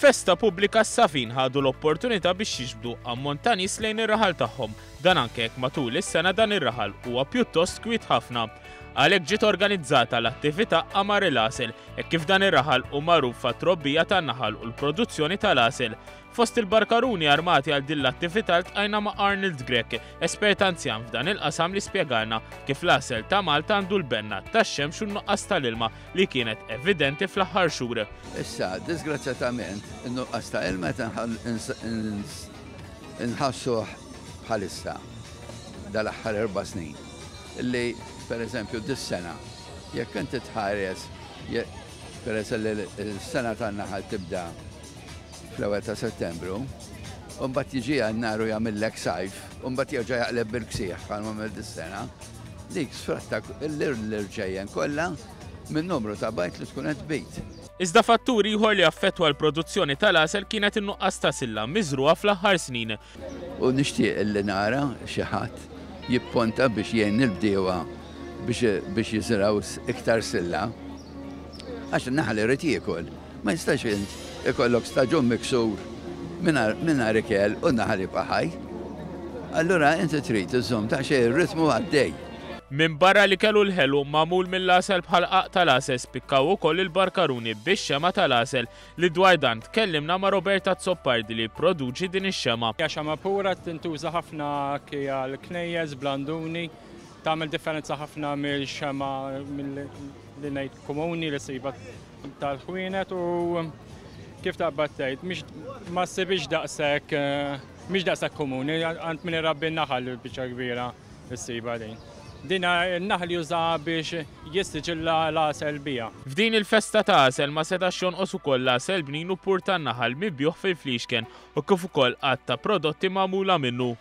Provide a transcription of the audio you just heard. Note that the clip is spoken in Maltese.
F'festa pubblika s-Safin ħadu l-opportunità biex jiġbdu ammont ta' nies lejn ir-raħal tagħhom. Dan anke jekk matul is-sena dan ir-raħal huwa pjuttost kwiet ħafna. Għalhekk ġiet organizzata l-attività Qamar il-Għasel, hekk kif dan ir-raħal hu magħruf għat-trobbija tan-naħal u l-produzzjoni tal-għasel. Fost il-barkaruni armati għal din l-attività ltqajna ma' Arnold Grech, espert anzjan f'dan il-qasam li spjegalna kif l-għasel ta' Malta għandu l-benna tax-xemx u n-nuqqas tal-ilma li kienet evidenti fl-aħħar xhur. Issa, disgrazzjatament, in-nuqqas ta' ilma qed inħassuh bħalissa dal-aħħar erba' snin. Li, pereżempju, dis-sena, jekk inti tħares, peress li s-sena tan-naħal tibda fl-ewwel ta' Settembru, u mbagħad jiġi Jannar u jagħmillek sajf, u mbagħad jerġa' jaqleb bil-ksieħ bħalma għamel dis-sena, dik sfratta l-irġejjen kollha min-numru ta' bajd li tkun qed tbid. Iżda fattur ieħor li affettwa l-produzzjoni tal-għasel kienet in-nuqqas ta' silla miżrugħa fl-aħħar snin. U nixtieq li nara xi ħadd jipponta biex jgħin lill-bdiewa biex jiżirgħu iktar silla. Għax in-naħal irid jiekol. Ma jistax int ikollok staġun miksur mingħajr ikel u n-naħal jibqa' ħaj. Allura inti trid iżżomm daqsxejn ir-ritmu għaddej. Minbarra l-ikel u l-ħelu magħmul mill-għasel bħal qagħaq tal-għasel spikkaw ukoll il-barkaruni bix-xemgħa tal-għasel li dwar dan tkellimna ma' Robert Azzopardi li jipproduċi din ix-xemgħa. Hija xemgħa pura tintuża ħafna anki għall-knejjes, blanduni, tagħmel differenza ħafna mill-xemgħa li ngħid komuni li ssibha tal-ħwienet u kif taqbad tgħid, mhix ma ssibhiex daqshekk mhix daqshekk komuni għand min irabbi n-naħal biċċa kbira ssibha din. Din in-naħal juża biex jissiġilla l-għasel biha. F'din il-festa ta' għasel ma setax jonqos ukoll l-għasel bnin u pur tan-naħal mibjugħ fil-fliexken u kif ukoll għadd ta' prodotti magħmula minnu.